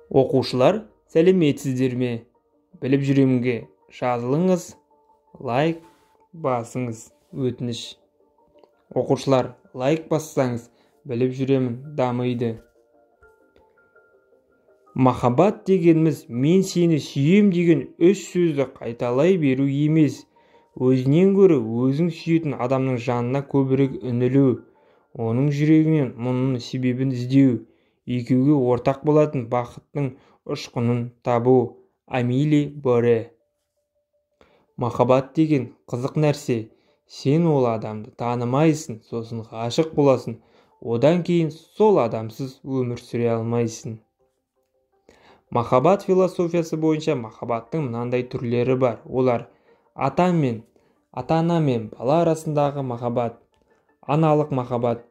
Окуучулар, сәлеметсиздерби? Билип жүремге жазылыңыз, лайк басыңыз, өтүнүч. Окуучулар, лайк бассаңыз, билип жүремин дамыйды. Махаббат дегенimiz мен сени сүйем деген өз сөздү кайталай берүү эмес, өзүнөн көрө өзүң сүйөтүн адамдын жанына көбүрөөк үнөлүү, онун жүрөгүнөн мунун себебин издөө, экөөгө ортак болатын бакыттын учкунун табуу. Амили Боре. Махаббат деген кызык нерсе. Сен ол адамды таанымайсың, сосын гашык болосуң, одан кийин сол адамсыз өмүр сүрө албайсың. Махаббат философиясы боюнча махаббаттын мындай түрлөрү бар. Олар ата ана менен бала арасындагы махаббат, аналык махаббат,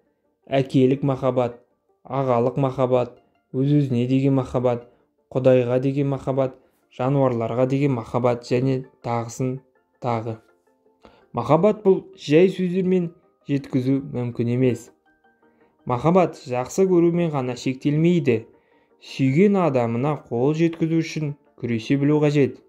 акелик махаббат, агалык махаббат, өз-өзүнө деген махаббат, Кудайга деген махаббат, жаныбарларга деген махаббат жана тагы. Махаббат бул жай сөздөр менен жеткизүү мүмкүн эмес. Махаббат жакшы көрүү менен гана шектелмейди. Сүйгөн адамына кол жеткизүү үчүн күрөшө билүү кажет.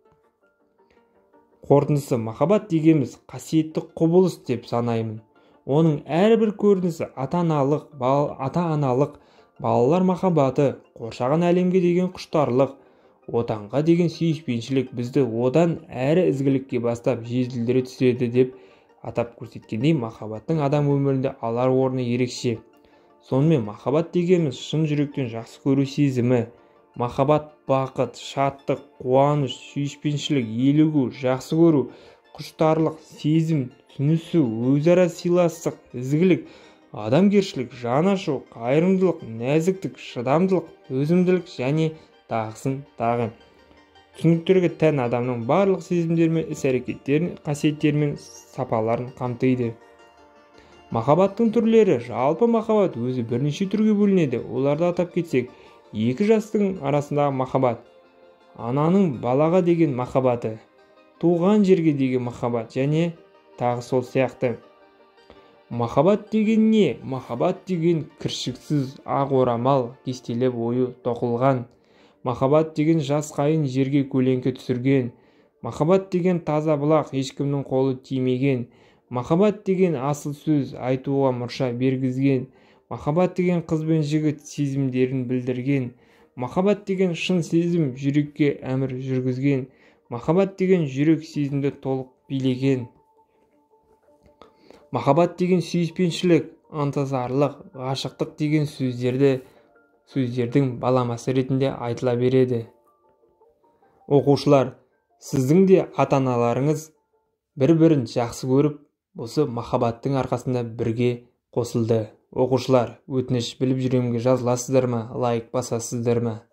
Корутундусу, махаббат дегенimiz касиеттүү кубулуш деп санаймын. Онун ар бир көрүнүшү ата-аналык, балалар махаббаты, коршогон алемге деген куштарлык, отанга деген сүйүшпенчилик бизди одан әрі изгиликке бастап жетилдире түсөдү деп атап көрсөткөндөй, махаббаттын адам өмүрүндө алар орну эрекче. Сонун махаббат дегенimiz шын жүрөктөн жакшы көрүү сезими. Махаббат бакыт, шаттык, кубаныч, сүйүшпенчилик, eeligүү, жакшы көрүү, куштарлык, сезим, түнүсүү, өз ара сыйлаштык, изгилик, адамгерчилик, жанашуу, кайрымдуулук, нәзиктик, шыдамдуулук, төзүмдүүлүк жана тагы. Түсүнүктөргө тән адамдын барлык сезимдери менен ис-аракеттерин, касиеттери менен сапаларын камтыйды. Махаббаттын түрлөрү. Жалпы махаббат өзү бир нече түргө бөлүнөдү. Оларды атап кетсек, эки жаштын арасындагы махаббат, ананын балага деген махаббаты, тууган жерге деген махаббат жана тагы сол сыяктуу. Махаббат деген эмне? Махаббат деген киршиксиз ак орамал кестелеп ою токулган. Махаббат деген жаз кайын жерге көлөңкө түшүргөн. Махаббат деген таза булак, эч кимдин колу тиймеген. Махаббат деген асыл сөз айтууга мурша бергизген. Махаббат деген кыз бен жигит сезимдерин билдирген. Махаббат деген шын сезим жүрөккө амир жүргүзгөн. Махаббат деген жүрөк сезимди толук бийлеген. Махаббат деген сүйүшпенчилик, ынтызарлык, гашыктык деген сөздердин баламасы иретинде айтыла береди. Окуучулар, сиздин де ата-аналарыңыз бири-бирин жакшы көрүп, осы махаббаттын аркасында бирге косулду. Окуучулар, өтүнүч, билип жүремге жазыласыздармы, лайк басасыздармы?